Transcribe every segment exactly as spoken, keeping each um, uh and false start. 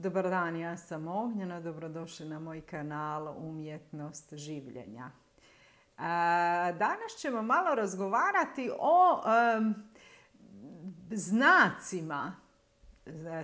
Dobar dan, ja sam Ognjena, dobrodošli na moj kanal Umjetnost življenja. Danas ćemo malo razgovarati o um, znacima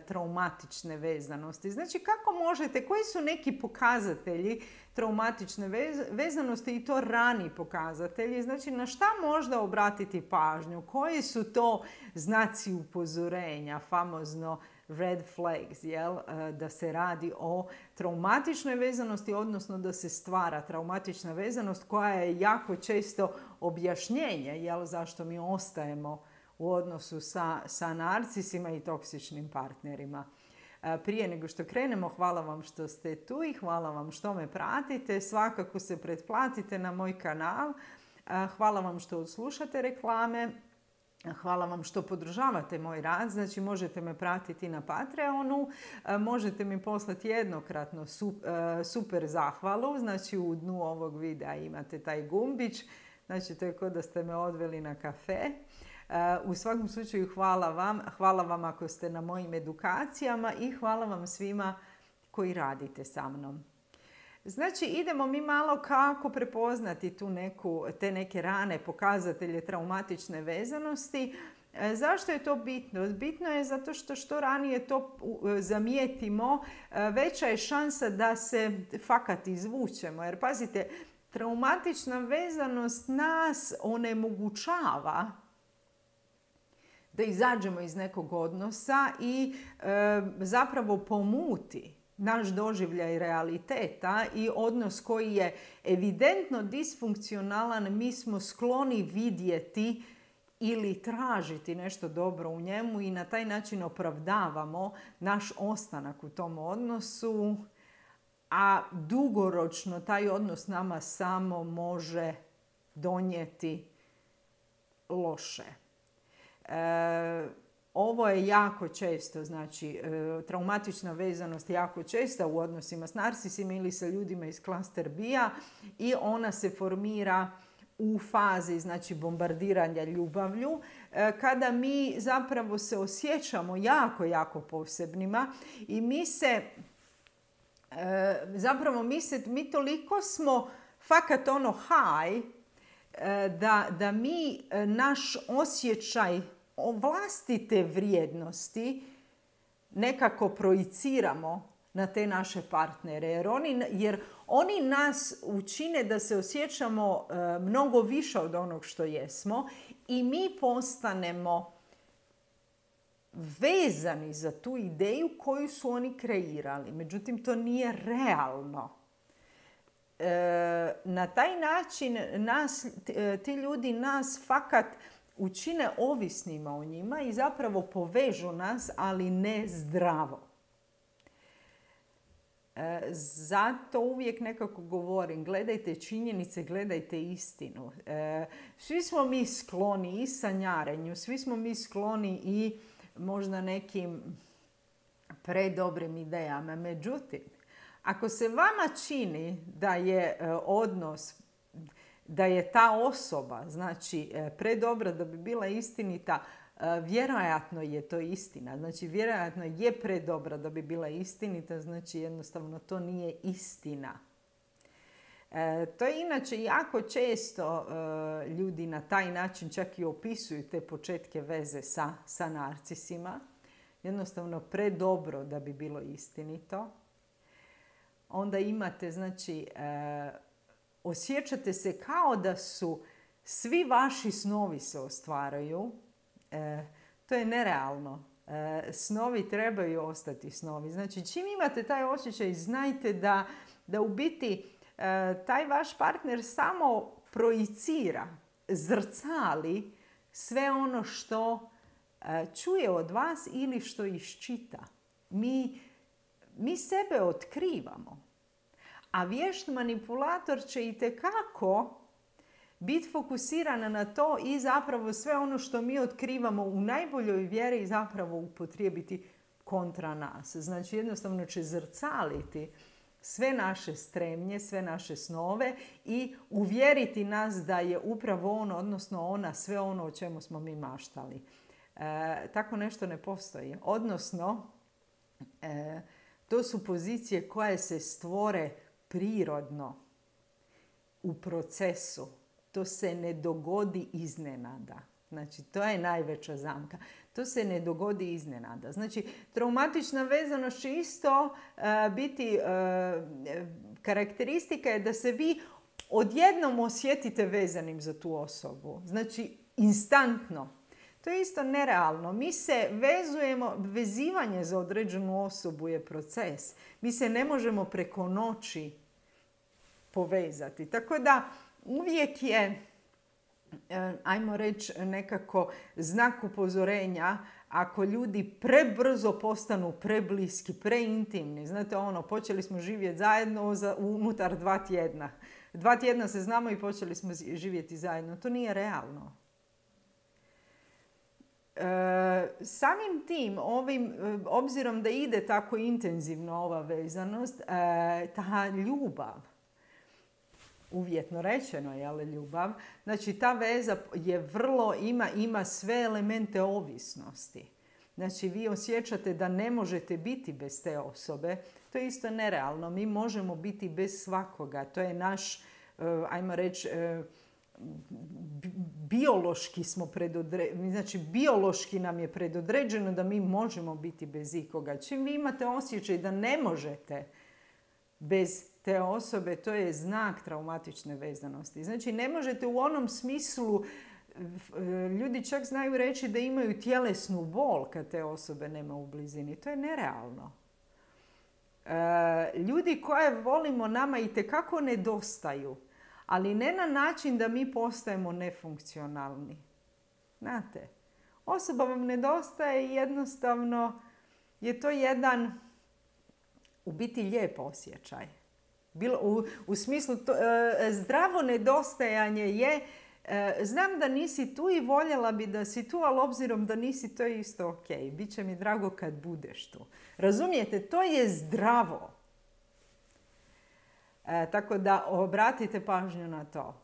traumatične vezanosti. Znači, kako možete, koji su neki pokazatelji traumatične vezanosti i to rani pokazatelji, znači na šta možda obratiti pažnju, koji su to znaci upozorenja, famozno red flags, jel? Da se radi o traumatičnoj vezanosti, odnosno da se stvara traumatična vezanost koja je jako često objašnjenje, jel? Zašto mi ostajemo u odnosu sa, sa narcisima i toksičnim partnerima. Prije nego što krenemo, hvala vam što ste tu i hvala vam što me pratite. Svakako se pretplatite na moj kanal. Hvala vam što odslušate reklame. Hvala vam što podržavate moj rad. Znači, možete me pratiti na Patreonu. Možete mi poslati jednokratno super zahvalu. Znači, u dnu ovog videa imate taj gumbić. Znači, to je kao da ste me odveli na kafe. U svakom slučaju hvala vam. Hvala vam ako ste na mojim edukacijama i hvala vam svima koji radite sa mnom. Znači, idemo mi malo kako prepoznati tu neku, te neke rane pokazatelje traumatične vezanosti. Zašto je to bitno? Bitno je zato što što ranije to zamijetimo, veća je šansa da se fakat izvučemo. Jer pazite, traumatična vezanost nas onemogućava da izađemo iz nekog odnosa i e, zapravo pomuti naš doživljaj realiteta i odnos koji je evidentno disfunkcionalan, mi smo skloni vidjeti ili tražiti nešto dobro u njemu i na taj način opravdavamo naš ostanak u tom odnosu, a dugoročno taj odnos nama samo može donijeti loše. E, ovo je jako često, znači e, traumatična vezanost je jako česta u odnosima s narcisima ili sa ljudima iz klaster B-a i ona se formira u fazi, znači, bombardiranja ljubavlju, e, kada mi zapravo se osjećamo jako, jako posebnima i mi se, e, zapravo mi se, mi toliko smo fakat ono high, Da, da mi naš osjećaj vlastite vrijednosti nekako projiciramo na te naše partnere. Jer oni, jer oni nas učine da se osjećamo mnogo više od onog što jesmo i mi postanemo vezani za tu ideju koju su oni kreirali. Međutim, to nije realno. E, na taj način nas, ti ljudi nas fakat učine ovisnima o njima i zapravo povežu nas, ali ne zdravo. E, zato uvijek nekako govorim, gledajte činjenice, gledajte istinu. E, svi smo mi skloni i sanjarenju, svi smo mi skloni i možda nekim predobrim idejama. Međutim, ako se vama čini da je odnos, da je ta osoba, znači, predobra da bi bila istinita, vjerojatno je to istina. Znači, vjerojatno je predobra da bi bila istinita, znači jednostavno to nije istina. E, to je inače jako često e, ljudi na taj način čak i opisuju te početke veze sa, sa narcisima. Jednostavno predobro da bi bilo istinito. Onda imate, znači, e, osjećate se kao da su svi vaši snovi se ostvaraju. E, to je nerealno. E, snovi trebaju ostati snovi. Znači, čim imate taj osjećaj, znajte da, da u biti e, taj vaš partner samo projicira, zrcali sve ono što e, čuje od vas ili što iščita. Mi Mi sebe otkrivamo, a vješt manipulator će itekako biti fokusiran na to i zapravo sve ono što mi otkrivamo u najboljoj vjeri zapravo upotrijebiti kontra nas. Znači, jednostavno će zrcaliti sve naše stremnje, sve naše snove i uvjeriti nas da je upravo on, odnosno ona, sve ono o čemu smo mi maštali. E, tako nešto ne postoji. Odnosno, e, To su pozicije koje se stvore prirodno u procesu. To se ne dogodi iznenada. Znači, to je najveća zamka. To se ne dogodi iznenada. Znači, traumatična vezanost će isto uh, biti uh, karakteristika je da se vi odjednom osjetite vezanim za tu osobu. Znači, instantno. To je isto nerealno. Mi se vezujemo, vezivanje za određenu osobu je proces. Mi se ne možemo preko noći povezati. Tako da uvijek je, ajmo reći, nekako znak upozorenja ako ljudi prebrzo postanu prebliski, preintimni. Znate ono, počeli smo živjeti zajedno za, unutar dva tjedna. Dva tjedna se znamo i počeli smo živjeti zajedno. To nije realno. E, samim tim, ovim, obzirom da ide tako intenzivno ova vezanost, e, ta ljubav, uvjetno rečeno, jel, ljubav, znači ta veza je vrlo, ima, ima sve elemente ovisnosti. Znači vi osjećate da ne možete biti bez te osobe. To je isto nerealno. Mi možemo biti bez svakoga. To je naš, ajmo reći, biološki smo predodređeni, znači biološki nam je predodređeno da mi možemo biti bez ikoga. Čim vi imate osjećaj da ne možete bez te osobe, to je znak traumatične vezanosti. Znači ne možete u onom smislu, ljudi čak znaju reći da imaju tjelesnu bol kad te osobe nema u blizini. To je nerealno. Ljudi koje volimo nama itekako nedostaju, ali ne na način da mi postajemo nefunkcionalni. Znate, osoba vam nedostaje i jednostavno je to jedan u biti lijep osjećaj. Bilo, u, u smislu to, e, zdravo nedostajanje je e, znam da nisi tu i voljela bi da si tu, ali obzirom da nisi, to je isto ok. Biće mi drago kad budeš tu. Razumijete, to je zdravo. E, tako da obratite pažnju na to.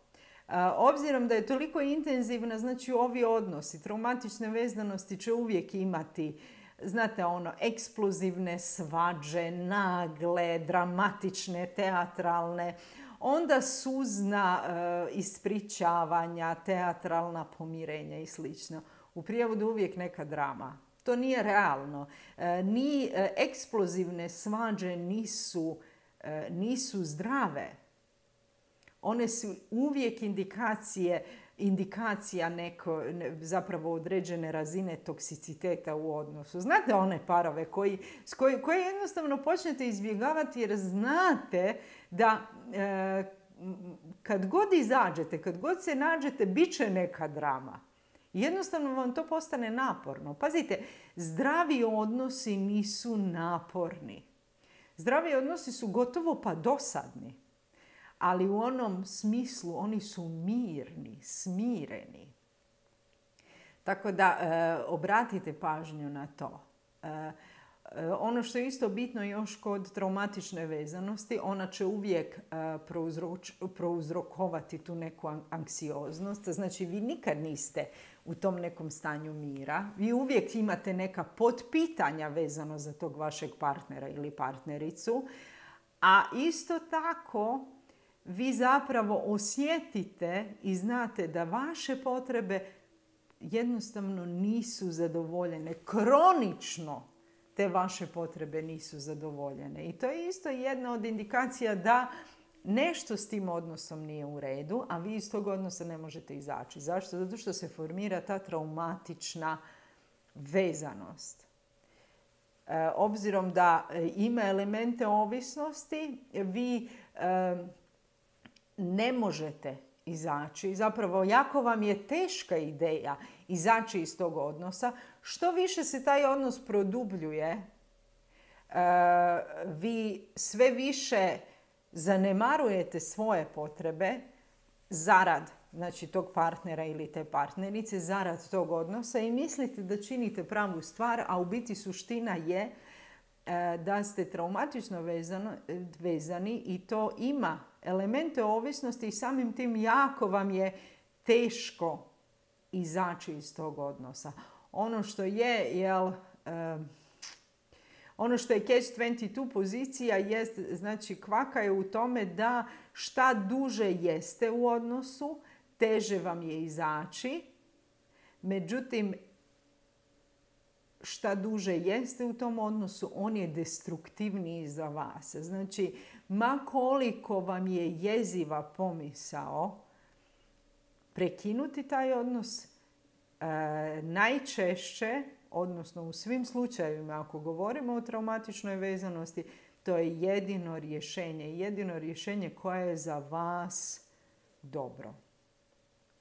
E, obzirom da je toliko intenzivna, znači ovi odnosi, traumatične vezanosti će uvijek imati, znate ono, eksplozivne svađe, nagle, dramatične, teatralne, onda suzna e, ispričavanja, teatralna pomirenja i slično. U prijevodu uvijek neka drama. To nije realno. E, ni e, eksplozivne svađe nisu nisu zdrave. One su uvijek indikacije, indikacija neko, zapravo određene razine toksiciteta u odnosu. Znate one parove koji, koji, koje jednostavno počnete izbjegavati jer znate da e, kad god izađete, kad god se nađete, bit će neka drama. Jednostavno vam to postane naporno. Pazite, zdravi odnosi nisu naporni. Zdravi odnosi su gotovo pa dosadni, ali u onom smislu oni su mirni, smireni. Tako da e, obratite pažnju na to. E, e, ono što je isto bitno još kod traumatične vezanosti, ona će uvijek e, prouzroč, prouzrokovati tu neku anksioznost. Znači vi nikad niste u tom nekom stanju mira. Vi uvijek imate neka potpitanja vezano za tog vašeg partnera ili partnericu. A isto tako vi zapravo osjetite i znate da vaše potrebe jednostavno nisu zadovoljene. Kronično te vaše potrebe nisu zadovoljene. I to je isto jedna od indikacija da nešto s tim odnosom nije u redu, a vi iz tog odnosa ne možete izaći. Zašto? Zato što se formira ta traumatična vezanost. E, obzirom da ima elemente ovisnosti, vi e, ne možete izaći. Zapravo, jako vam je teška ideja izaći iz tog odnosa. Što više se taj odnos produbljuje, e, vi sve više zanemarujete svoje potrebe zarad, znači, tog partnera ili te partnerice, zarad tog odnosa i mislite da činite pravu stvar, a u biti suština je e, da ste traumatično vezano, vezani i to ima elemente ovisnosti i samim tim jako vam je teško izaći iz tog odnosa. Ono što je, jel, e, ono što je catch dvadeset dva pozicija jest, znači kvaka je u tome da šta duže jeste u odnosu, teže vam je izaći. Međutim, šta duže jeste u tom odnosu, on je destruktivniji za vas. Znači, ma koliko vam je jeziva pomisao prekinuti taj odnos, e, najčešće, odnosno u svim slučajevima, ako govorimo o traumatičnoj vezanosti, to je jedino rješenje. Jedino rješenje koje je za vas dobro.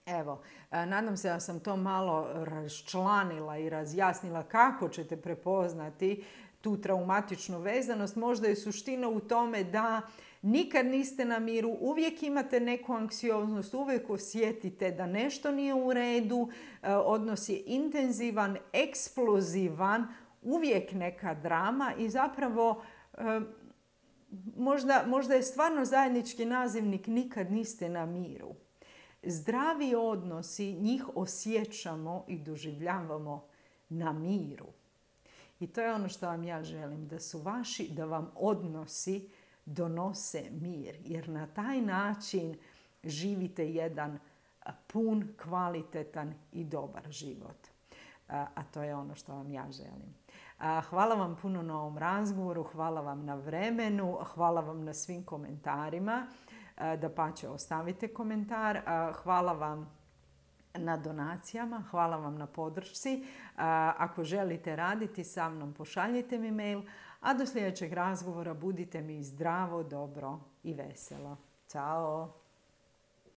Evo, nadam se da sam to malo raščlanila i razjasnila kako ćete prepoznati tu traumatičnu vezanost. Možda je suština u tome da nikad niste na miru, uvijek imate neku anksioznost, uvijek osjetite da nešto nije u redu, odnos je intenzivan, eksplozivan, uvijek neka drama i zapravo možda, možda je stvarno zajednički nazivnik nikad niste na miru. Zdravi odnosi, njih osjećamo i doživljavamo na miru. I to je ono što vam ja želim, da su vaši, da vam odnosi donose mir. Jer na taj način živite jedan pun, kvalitetan i dobar život. A to je ono što vam ja želim. Hvala vam puno na ovom razgovoru, hvala vam na vremenu, hvala vam na svim komentarima. Dapače, ostavite komentar. Hvala vam na donacijama, hvala vam na podršci. Ako želite raditi sa mnom, pošaljite mi mail, a do sljedećeg razgovora budite mi zdravo, dobro i veselo. Ćao!